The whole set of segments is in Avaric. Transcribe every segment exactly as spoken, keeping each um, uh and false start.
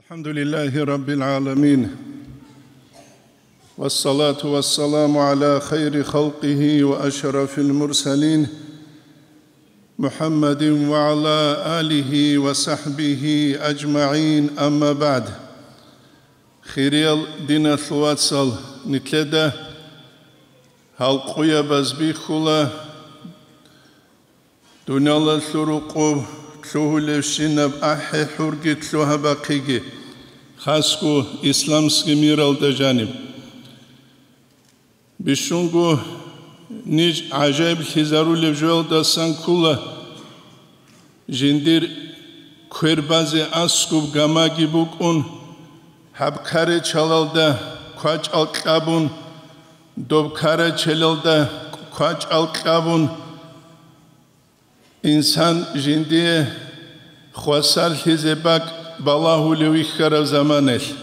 الحمد لله رب العالمين، والصلاة والسلام على خير خلقه وأشرف المرسلين، محمد وعلى آله وصحبه أجمعين، أما بعد. Хириял диналъул вацал, нилъеда гьал къуябаз бихьула, дуниялалъул рукъуб лъугьулебщинаб ахӀи-хӀурги лъугьа-бахъиги, хасго исламский миралда жаниб. Бищунго ниж гӀажаиблъизарулеб жоялдасан ккола, жиндир квер базе аскуб гамаги букӀун, гьаб карачалалда квачӀал кьабун, доб карачелалда квачӀал кьабун, инсан жиндие хвасарлъизе бакӀ балагьулев вихьараб заманаялъ.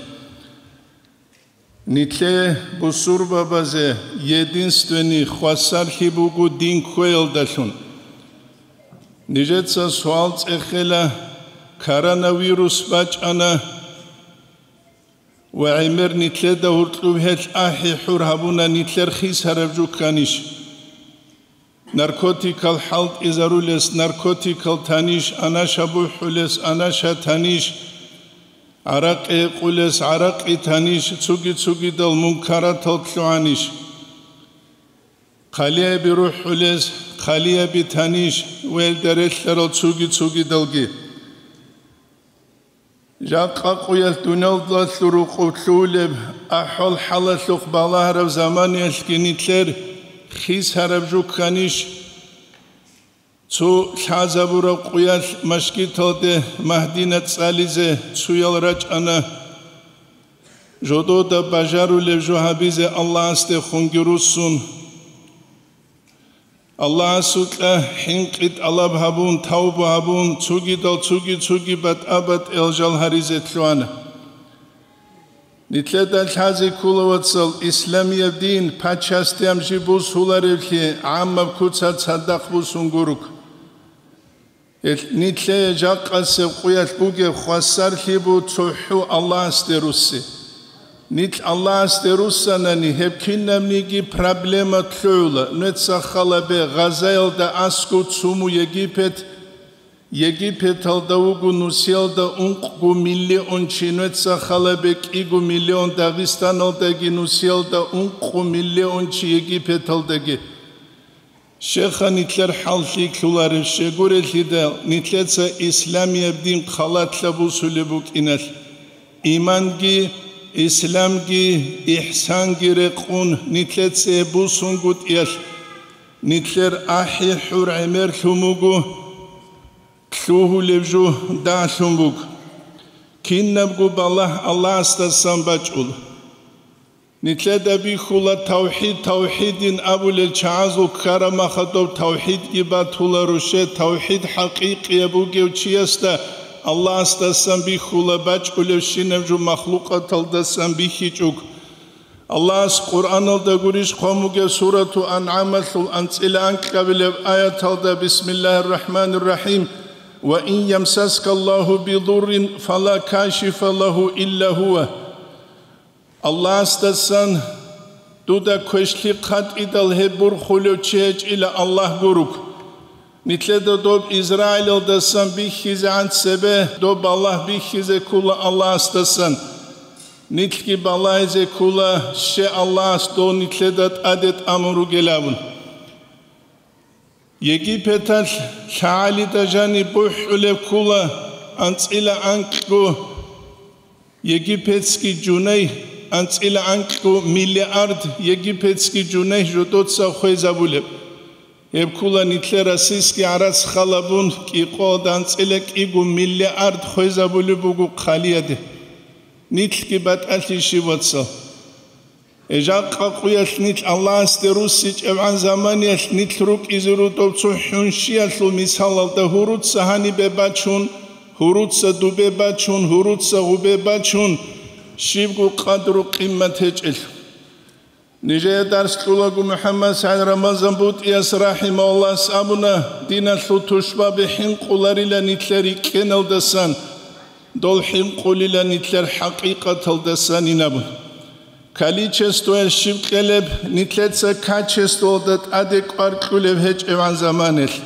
Нилъее, бусурбабазе, единственный хвасарлъи буго дин кквеялдалъун. Нижеца суал цӀехела: коронавирус бачӀана ва гӀемер нилъеда гьуркьуб гьелъ ахӀи-хӀур гьабуна, нилъер хисараб жо кканищ? Наркотикал хӀалтӀизарулес наркотикал танищ, анаша бухӀулес анаша танищ, гӀаракъи гьекъулес гӀаракъи танищ, цуги-цугидал мункаратал лъугӀанищ? Хъалияби рухӀулес хъалияби танищ, велда релълъарал цуги-цугидалги. Жакъа къуялъ дуниялалъул рукъуб лъугьулеб ахӀвал-хӀалалъухъ балагьараб заманиялъги нилъер хисараб жо кканищ? Цо лъазабураб къуялъ машгиталде Магьдина цӀализе цоял рачӀана, жодода бажарулеб жо гьабизе Аллагьасдехунги руссун. Аллагьасукьа хӀинкъи тӀалаб гьабун, тавба гьабун, цугидал цуги-цуги батӀа-батӀиял жал гьаризе лъугьана. Нилъеда лъазе ккола, вацал, исламияб дин пачасдеян жиб бусуларевлъи гӀаммаб куца цадахъ бусун гурук. Гьелъ нилъее жакъасеб къуялъ бугеб хвасарлъи бу цохӀо Аллагьасде русси. Нилъ Аллагьасде руссанани, гьеб кинабниги проблема лъугӀула. Нуеца халабе, Газаялда аскӀов цуму Египет, Египеталда вуго нусиялда ункъго миллион чи, нуеца халабе кӀиго миллион, Дагъистаналдаги нусиялда ункъго миллион чи Египеталдаги. Щеха, нилъер хӀал лъикӀлъуларев щегурелъидал, нилъеца исламияб дин халатлъа бусулеб букӀиналъ, иманги, исламги, ихсанги рекъун, нилъеца гьеб бусунгутӀиялъ, нилъер ахӀи-хӀур гӀемерлъун буго, лъугьулеб жо дагьлъун буго. Кинабго балагь Аллагьасдасан бачӀула. Нилъеда бихьула тавхӀид, тавхӀидин абулел чагӀазул ккараб махадуб тавхӀидги батула руше, тавхӀид хӀакъикъияб бугев чиясда Аллагьасдасан бихьула бачӀулевщинаб жо махлукъаталдасан бихьичӀого. Аллагьас Къуръаналда гурищ хъван бугеб сурату АнгӀамалъул анцӀила анкьабилеб аяталда: «Бисмиллагьир рахӀманир рахӀим. Ва ин ямсаскаллагьу бидуррин, фала кашифа лагьу илла гьува». Аллагьасдасан дуда квешлъи хъатӀидал гьеб бурхулев чи гьечӀила Аллагь гуруг. Нилъеда доб Израилалдасан бихьизегӀан цебе доб балагь бихьизе ккола Аллагьасдасан. Нилъги балагьизе ккола, ще Аллагьас дов нилъеда тӀаде тӀамун ругел абун. Египеталъ лъагӀалида жаниб бухӀулеб ккола анцӀила анкьго египетский жуней, анцӀила анкьго миллиард египетский жуней жодоца хвезабулеб. Гьеб ккола нилъер российский гӀарац халабун кӀикъоялда анцӀила кӀиго миллиард хвезабулеб буго хъалияде. Нилъги батӀалъи щиб, вацал? Жакъа къуялъ нилъ Аллагьасде руссичӀебгӀан заманиялъ нилъ рукӀизе рудов цо хӀунщиялъул мисалалда гьуруца гьанибе бачун, гьуруца дубе бачун, гьуруца гъубе бачун, щибго къадру-къиммат гьечӀелъул. Нижее дарс кьулаго МухӀаммад СагӀид Рамазан БутӀияс рахӀимагьуллагьас абуна: диналъул тушбаби хӀинкъуларила нилъер рикӀкӀеналдасан. Дол хӀинкъулила нилъер хӀакъикъаталдасанин абун. Количествоялъ щиб кьелеб, нилъеца качествоялда тӀаде кӀвар кьулеб гьечӀебгӀан заманалъ.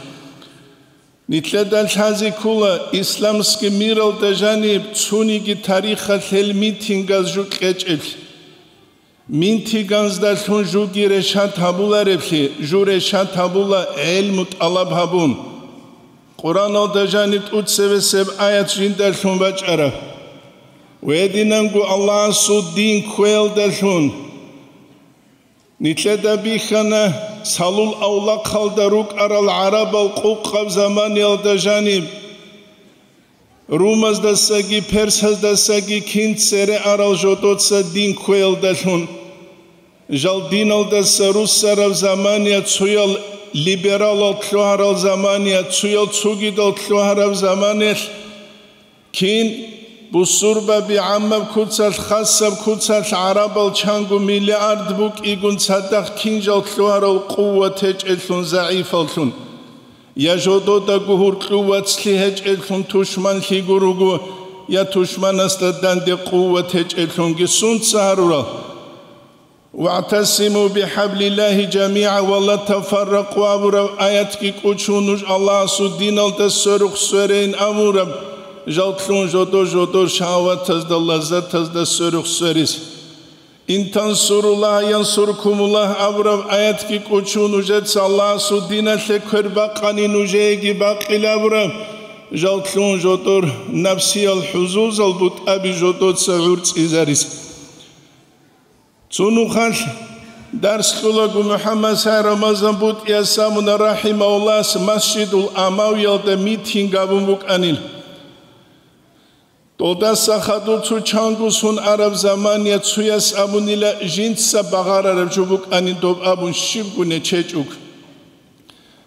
Нилъеда лъазе ккола исламский миралда жаниб цониги тарихалъ гьел митингаз жо кьечӀеблъи. Митингаздалъун жуги решат гьабулареблъи, жу решат гьабула гӀелму тӀалаб гьабун. Къуръаналда жаниб тӀуцебесеб аят жиндалъун бачӀараб. Гьединанго Аллагьасул дин кквеялдалъун. Нилъеда бихьана, салул авлахъалда рукӀарал гӀарабал къукъаб заманиялда жаниб, румаздасаги персаздасаги кин цере арал жодоца дин кквеялдалъун. Жал диналдаса руссараб замания цуял либералал лъугьарал замания, цуял цугидал лъугьараб заманиялъ кин бусурбаби гӀаммаб куцалъ, хасаб куцалъ гӀарабал чанго миллиард букӀигун цадахъ кин жал лъугьарал къуват гьечӀелъун, загӀифаллъун. Я жододаго гьуркьу вацлъи гьечӀелъун тушманлъи гуруго, я тушманасда данде къуват гьечӀелъунги сунца гьарурал? «ВагӀтасиму бихӀаблиллагьи жамигӀа ва ла тафарракъу» абураб аятги кӀучун нуж Аллагьасул диналда сверухъ сверейин абураб, жал лъун жодор-жодор шагьаватазда, лаззатазда сверухъ сверизе. «Ин тансуруллагьа янсуркумуллагь» абураб аятги кӀучун нужеца Аллагьасул диналъе квер бакъани нужееги бакъилабураб, жал лъун жодор напсиял хӀузузал бутӀаби жодоца гӀурцӀизарис. Цо нухалъ дарс кьолаго МухӀаммад Сай Рамазан бутӀияс абуна рахӀимагьуллагьас Масжидул Амавиялда митинг гьабун букӀанил. Долдаса хадур цо чанго сон араб замания цуяс абунила жинца багъарараб жо букӀанин доб абун щибго нечечӀуг.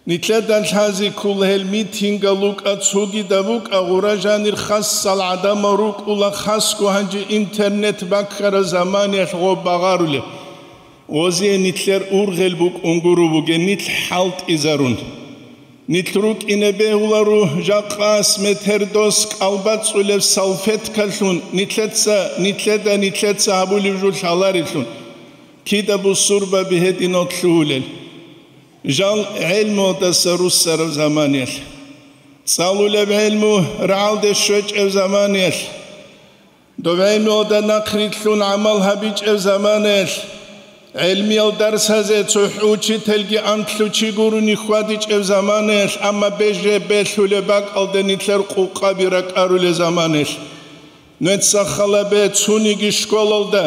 Нилъеда лъазе ккола гьел митингал рукӀа цогидаб букӀа гъура жанир хасал гӀадамал рукӀула хасго гьанже интернет баккараб заманиялъ гъоб багъарулеб. Гъозие нилъер ургъел букӀун гуро бугеб нилъ хӀалтӀизарун. Нилъ рукӀине бегьуларо жакъа ас метер дос кӀалбацӀулеб салфеткалъун нилъеца, нилъеда нилъеца гьабулеб жо лъаларелъун, кида бусурбаби гьединал лъугьулел. Жал гӀелмуялдаса руссараб заманиялъ, цӀалулеб гӀелму рагӀалде щвечӀеб заманиялъ, доб гӀелмуялда нахърилълъун гӀамал гьабичӀеб заманаялъ, гӀелмиял дарсазе цохӀо учительги анлъго чи гурони хьвадичӀеб заманаялъ, амма беже-, белъулеб бакӀалде нилъер къукъаби ракӀарулеб заманаялъ. Нуца халабе цониги школалда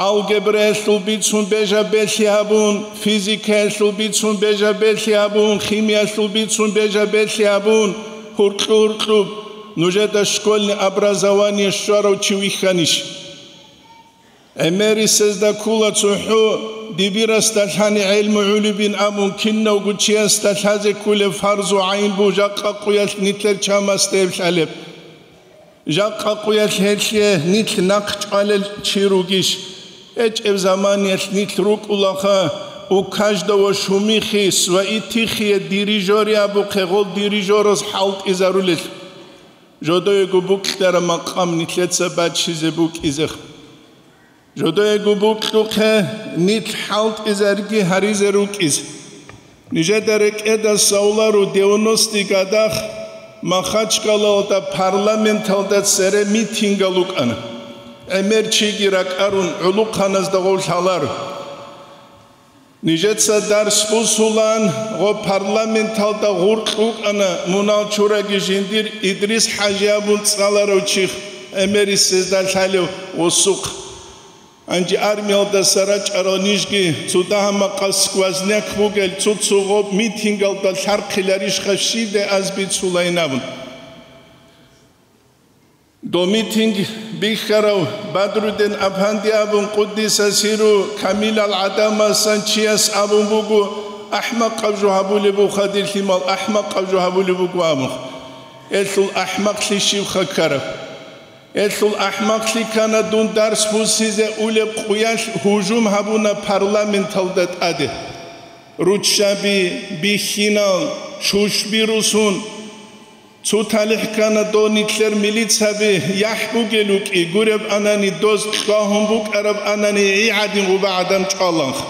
алгебраялъул бицун бежа-белъи гьабун, физикаялъул бицун бежа-белъи гьабун, химиялъул бицун бежа-белъи гьабун, гьуркьу-гьуркьуб нужеда школьный образование щварав чи вихьанищ? ГӀемерисезда ккола цохӀо дибирасда лъани гӀелму гӀолебин абун кинавго чиясда лъазе кколеб фарзу гӀайн буго жакъа къуялъ нилъер чамасда гьеб лъалеб. Жакъа къуялъ гьелъие нилъ нахъ чӀвалел чи ругищ? ГьечӀеб заманиялъ нилъ рукӀулаха, у каждого шумихи свои тихие дирижёры абухъе гъол дирижёраз хӀалтӀизарулел. Жодоего букьараб макъам нилъеца баччизе букӀизех. Жодоего букьухъе нилъ хӀалтӀизарги гьаризе рукӀиз. Нижеда рекӀеда савлару девяностый годах Махачкалалда парламенталда цере митингал рукӀана. ГӀемер чиги ракӀарун гӀулухъаназда гъов лъаларо. Нижеца дарс бусулан, гъо парламенталда гъуркь вукӀана мунал чураги жиндир Идрис ХӀажи абун цӀаларав чих, гӀемерисезда лъалев гъосухъ. Гьанже армиялдаса рачӀарал нижги цо дагьа-макъа сквозняк бугел цо-цо гъоб митингалда лъархъиларищха щиб де аз бицулайин абун. Дол митинг бихьарав Бадрудин Апанди абун къуддиса сиру камилал гӀадамасан чияс абун буго, ахӀмакъаб жо гьабулеб буха дир лъимал, ахӀмакъаб жо гьабулеб буго абун. Гьелъул ахӀмакълъи щибха ккараб? Гьелъул ахӀмакълъи ккана дун дарс буссизе улеб къуялъ гьужум гьабуна парламенталда тӀаде. Руччаби, бихьинал, шушби русун. Цо талихӀ ккана дов нилъер милицаби яхӀ бугел вукӀи, гуреб анани, доз кьвагьун букӀараб анани, гӀи гӀадин гъуба гӀадам чӀваланха.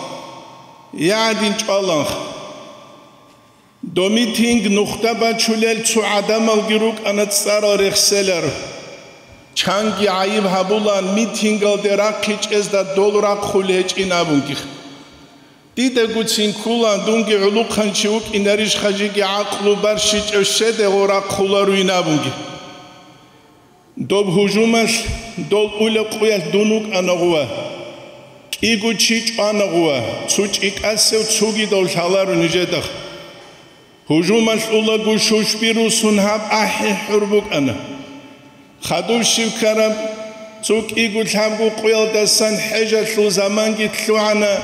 ГӀи гӀадин чӀваланха. Дов митинг нухда бачулел цо гӀадамалги рукӀана цӀарал рехселар. Чанги гӀайиб гьабулан, митингалде рахъичӀезда дол рахъулел гьечӀин абунги. Дидаго цин ккула, дунги гӀулухъанчи вукӀинарищха, жеги гӀакълу барщичӀев щедего рахъуларуйин абунги. Доб гьужумалъ, дол улеб къуялъ дун вукӀана гъува. КӀиго чи чӀвана гъува, цо чӀикӀасев цогидав лъаларо нижеда. Гьужумалъ улаго щущби русун гьаб ахӀи хӀур букӀана. Хадуб щиб ккараб, цо кӀиго лъабго къуялдасан хӀежалъул заманги лъугӀана.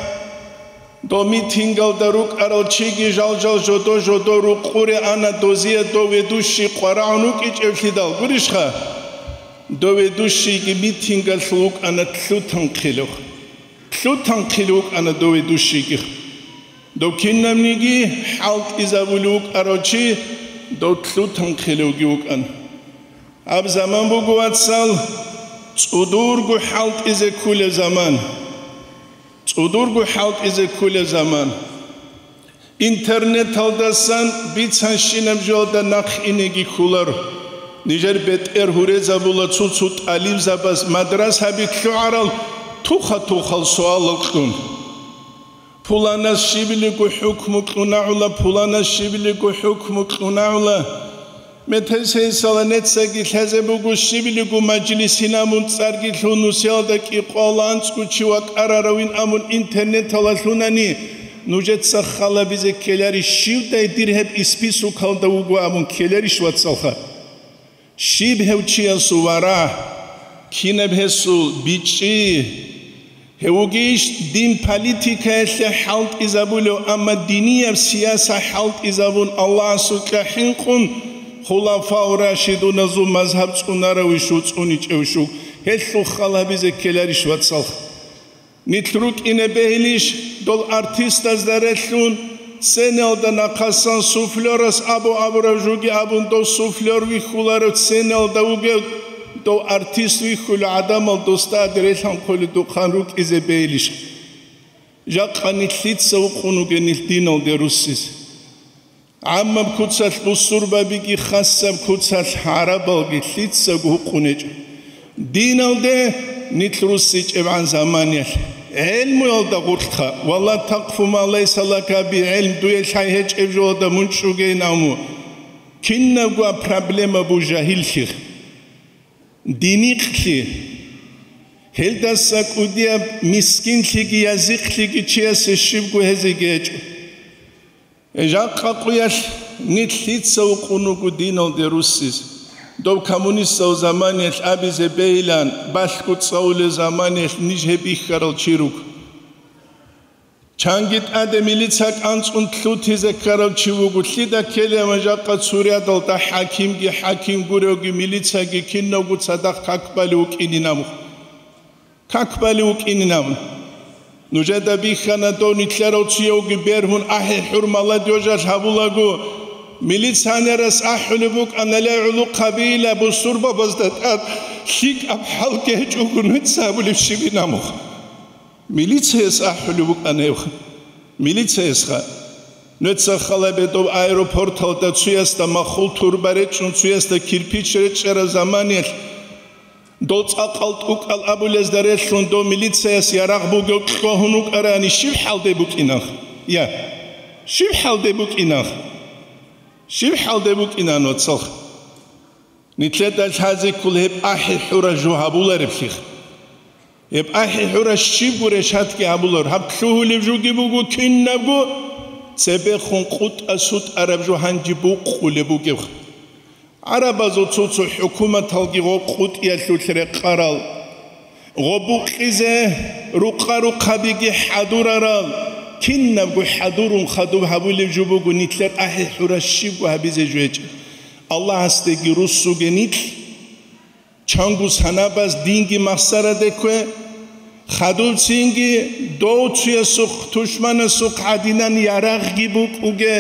Дов митингалда рукӀарал чиги жал-жал жодо-жодо рукъуре ана, дозие дов ведущий къварагӀун вукӀичӀевлъидал гурищха? Дов ведущийги митингалъул вукӀана лъутанхъилев. Лъутанхъилев вукӀана дов ведущийги. Дов кинабниги хӀалтӀизабулев вукӀарав чи дов лъутанхъилевги вукӀана. Гьаб заман буго, вацал, цӀудурго хӀалтӀизе кколеб заман. ЦӀудурго хӀалтӀизе кколеб заман. Интернеталдасан бицанщинаб жоялда нахъ инеги кколаро. Нижер бетӀер гьурезабула цо-цо тӀалибзабаз мадрасаби лъугӀарал туха-тухал суалал кьун. Пуланас щибилиго хӀукму кьунагӀула, пуланас щибилиго хӀукму кьунагӀула. Метер сенсала нецаги лъазе буго, щибилиго мажлисин абун цӀарги лъун, нусиялда кӀикъоялда анцӀго чи вакӀараравин абун интернеталда лъунани, нужеца халабизе ккеларищ, щивдай дир гьеб списокалда вуго абун ккеларищ, вацалха? Щиб гьев чиясул вара? Кинаб гьесул бичӀчӀи? Гьев вугищ дин политикаялъе хӀалтӀизабулев, амма динияб сияса хӀалтӀизабун, Аллагьасукьа хӀинкъун, хулафау рашидуназул мазгьаб цӀунаравищ, цӀуничӀевщук, гьелъул халабизе ккеларищ, вацалха? Нилъ рукӀине бегьилищ, дол артистазда релълъун, сценалда нахъасан суфлёрас абу-абураб жуги абун, дов суфлёр вихьуларев сценалда вугев, дов артист вихьулев гӀадамал досда релъанхъуледухъан рукӀизе бегьилищ? Жакъа нилъ лъица вукъун вугев нилъ диналде руссизе? ГӀаммаб куцалъ бусурбабиги, хасаб куцалъ гӀарабалги лъицаго гьукъун гьечӀо. Диналде нилъ руссичӀебгӀан заманиялъ, гӀелмуялда гъоркьха, «Ва ла такъфу ма лайса лака би гӀилм», дуе лъай гьечӀеб жоялда мун чӀугейин абун, кинабго проблема буго жагьиллъи, динихълъи. Гьелдаса кӀудияб мискинлъиги язихълъиги чиясе щибго гьезеги гьечӀо. Жакъа къуялъ нилъ лъица вукъун вуго диналде руссизе? Дов коммунистал заманиялъ абизе бегьилан, балъго цӀалулел заманиялъ ниж гьеб бихьарал чи руго. Чанги тӀаде милица кӀанцӀун лъутизе ккарав чи вуго, лъида ккелеван жакъа цо рядалда хӀакимги, хӀаким гуревги, милицаги кинавго цадахъ как балев вукӀинин абун. Как балев вукӀинин абун. Нужеда бихьана дов нилъерал цоявги бергьун ахӀи хӀур молодёжалъ гьабулаго, милиционерас ахӀулеб букӀана, ле, гӀулухъабила бусурбабазда тӀад лъикӀаб хӀал гьечӀого нуца гьабулеб щибин абун. Милицияс ахӀулеб букӀана гьебха. Милициясха. Нуца халабе доб аэропорталда цоясда махул турба речӀун, цоясда кирпич речӀчӀараб заманиялъ, дол цӀакъал тӀукӀал абулезда релълъун дов милицияс ярагъ бугев кьвагьун вукӀарани, щиб хӀалде букӀинанха? Я. Щиб хӀалде букӀинанха? Щиб хӀалде букӀинан, вацалха? Нилъеда лъазе ккола гьеб ахӀи хӀура жо гьабулареблъи. Гьеб ахӀи хӀура щибго решатги гьабулар. Гьаб лъугьулеб жоги буго кинабго, цебехун къутӀа-сутӀараб жо гьанже букъулеб бугеб. ГӀарабазул цо-цо хӀукуматалги гъо къутӀиялъулъ рекъарал, гъо букъизе рукъа-рухъабиги хӀадурарал, кинабго хӀадурун хадуб гьабулеб жо буго нилъер ахӀи хӀура щибго гьабизе жо гьечӀеб. Аллагьасдеги руссуге нилъ, чанго санабаз динги махсараде ккве, хадубцинги дов цоясухъ, тушманасухъ гӀадинан ярагъги букӀуге,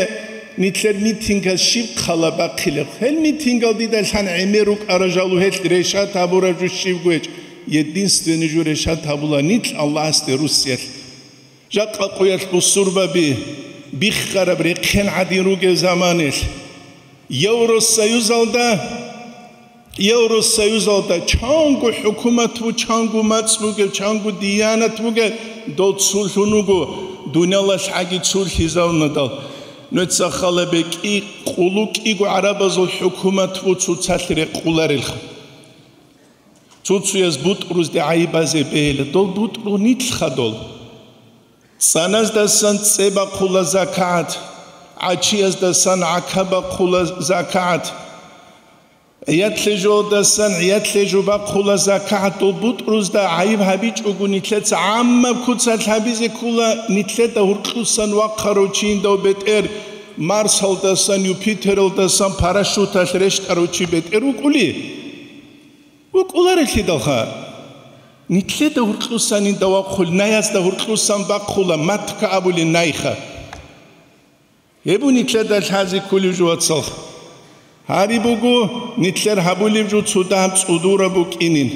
Нилъер митингас щиб хъала бахъилеб? Гьел митингал дида лъан гӀемер рукӀарал жал, гьелъ решат гьабураб жо щибго гьечӀ. Единственный жо решат гьабула нилъ Аллагьасде руссиялъ. Жакъа къуялъ бусурбаби биххараб рехъен гӀадин ругел заманалъ, Евросоюзалда, Евросоюзалда чанго хӀукумат бу, чанго мацӀ бугел, чанго диянат бугел, дол цулъун вуго, дуниялалъ гӀаги цулъизавнадал. Нуца хала бекӀи, къулу кӀиго гӀарабазул хӀукумат бу цоцалъ рекъуларелха. Цо-цояз бутӀрузде гӀайиб базе бегьила, дол бутӀру нилъха дол. ЦӀаназдасан цӀе бахъула закагӀат, гӀачияздасан гӀака бахъула закагӀат, гӀиятлъежодасан гӀиятлъежо бахъула закагӀат, дол бутӀрузда гӀайиб гьабичӀого нилъеца гӀаммаб куцалъ гьабизе ккола, нилъеда гьуркьусан вахъарав чи индав бетӀер, Марсалдасан, Юпитералдасан парашюталъ рещтӀарав чи бетӀер вукӀули? ВукӀуларелъидалха, нилъеда гьуркьусан инда вахъул, наязда гьуркьусан бахъула, матка абулин найха. Гьеб бу нилъеда лъазе кколев жо, вацалха. Гьари буго, нилъер гьабулев жо цо дагьаб цӀудураб букӀинин.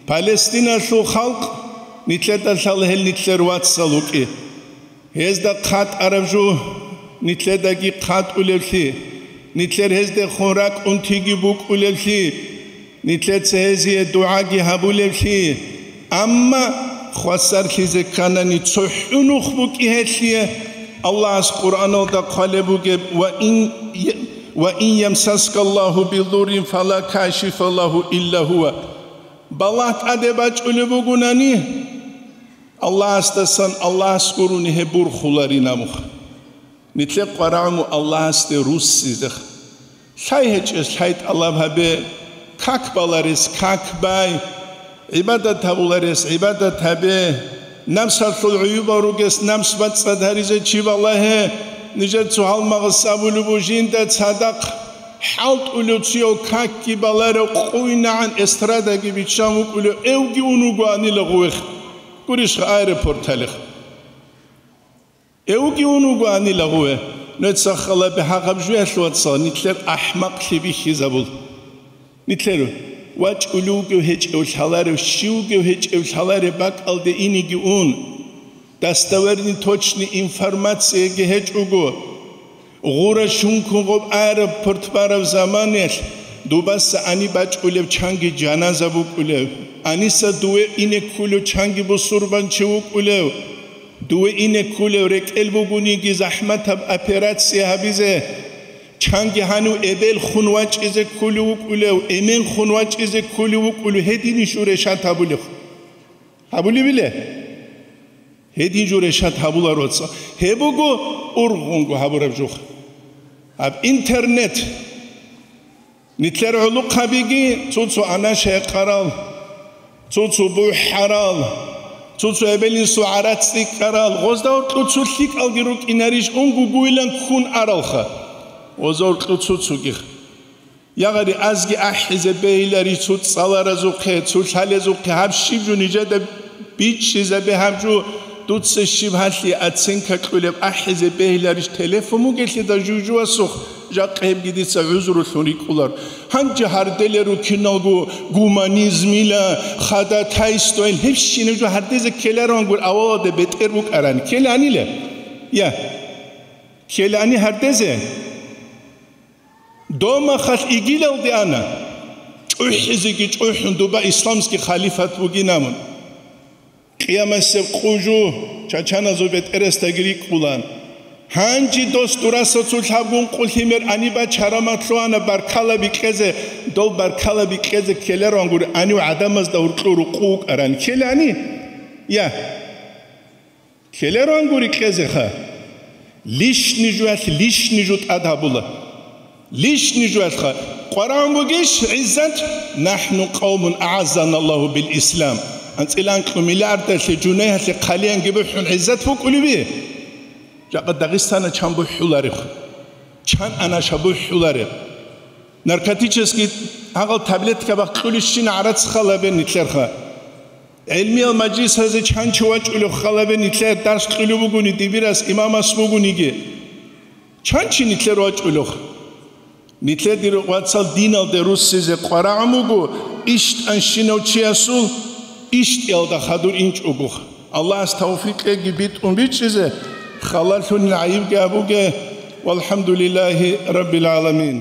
Палестиналъул халкъ, нилъеда лъала гьел нилъер вацал вукӀи. Гьезда хъатӀараб жо нилъедаги хъатӀулевлъи, нилъер гьездехун ракӀунтиги букӀулевлъи, нилъеца гьезие дугӀаги гьабулевлъи, амма хвасарлъизе кканани цохӀо нух букӀи гьелъие. Аллагьас Къуръаналда хъвалеб бугеб: «Ва ин, ва ин ямсаскаллагьу бидуррин фала кашифа лагьу илла гьува». Балагь тӀаде бачӀулеб бугунани, Аллагьасдасан Аллагьас гурони гьеб бурхуларин абуха. Нилъер къварагӀуму Аллагьасде руссизеха. Лъай гьечӀес лъай тӀалаб гьабе, как баларес как бай, гӀибадат гьабуларес гӀибадат гьабе, намсалъул гӀуюбал ругес намс бацӀцӀад гьаризе чи балагье, нижер цо гьалмагъас абулеб бу жинда цадахъ хӀалтӀулев цояв какги баларев къуйнагӀан эстрадаги биччан вукӀулев эвги ун вугоанила гъувех. Гурищха аэропорталихъ? Эвги ун вугоанила гъуве, нуца халабе гьагъаб жуялъ, вацал, нилъер ахӀмакълъи бихьизабул. Нилъер вачӀулев вугев гьечӀев лъаларев, щив вугев гьечӀев лъаларев бакӀалде инеги ун, достоверный, точный информацияги гьечӀого, гъура щункун гъоб аэропорт бараб заманаялъ дубаса ани бачӀулев чанги жаназа букӀулев, аниса дуве ине ккулев чанги бусурбанчи вукӀулев, дуве ине ккулев рекӀел бугониги захӀматаб операция гьабизе, чанги гьанив эбел хун вачӀизе ккулев вукӀулев, эмен хун вачӀизе ккулев вукӀулев, гьединищ жо решат гьабулев. Гьабулеб иле? Гьедин жо решат гьабуларо ца. Гьеб буго ургъунго гьабураб жух. Гьаб интернет. Нилъер гӀолохъабиги цо-цо анаша гьекъарал, цо-цо бухӀарал, цо-цо эбел-инсул гӀарац цӀикӀкӀарал, гъозда гьоркьо цо лъикӀалги рукӀинарищ, унго гуйлан ккун аралха. Гъозда гьоркьо цо-цогих. Ягъари азги ахӀизе бегьилари цо цӀаларазухъе, цо лъалезухъе, гьаб щиб жо нижеда бичӀчӀизабе гьаб жо, дуца щиб гьалъие оценка кьулеб ахӀизе бегьиларищ телефон бугелъидал жужуасухъ, жакъа гьебги дица гӀузрулъун рикӀкӀулар. Гьанже гьарделе рукиналго гуманизмила, ходатайствоян гьебщинаб жо гьардезе ккелароан гур авалалда бетӀер букӀарани. Ккеланила? Я. Ккелани гьардезе? Домахалъ игилалде ана, чӀухӀизеги чӀухӀун, дуба исламский халифат бугин абун. Къиямасеб къужу чачаназул бетӀерасдаги рикӀкӀулан. Гьанже дос дураса цо лъабгун къулъимер аниба чарамат лъугьана баркала бикьезе, дол баркала бикьезе ккелароан гури, анив гӀадамазда гьуркьу рукъу вукӀаран ккелани? Я. Ккелароан гури кьезеха. Лишни жуялъ лишни жу тӀад гьабула. Лишни жуялъха. КъварагӀун бугищ гӀиззат? «НахӀну къавмун агӀаззаналлагьу бил ислам». АнцӀила анкьу миллиардалъе жунайялъе хъалиянги бухӀун гӀиззат букӀулеби? Жакъа Дагъистана чан бухӀулареб? Чан анаша бухӀулареб? Наркотический гьагъал таблетка бахъ кьулищина гӀарац халабе нилъерха. ГӀилмиял мажлисазе чанчи вачӀулев халабе нилъер дарс кьулев вугони, дибирас имамас вугониги. Чан чи нилъер вачӀулев? Нилъер, дир вацал, диналде руссизе къварагӀун буго, ищтӀанщинав чиясул ищтӀиялда хадур инчӀого. Аллагьас тавфикъ кьеги битӀун бичӀчӀизе, халалъунин гӀайибги абуге. ВалхӀамдулиллагьи раббил гӀаламин.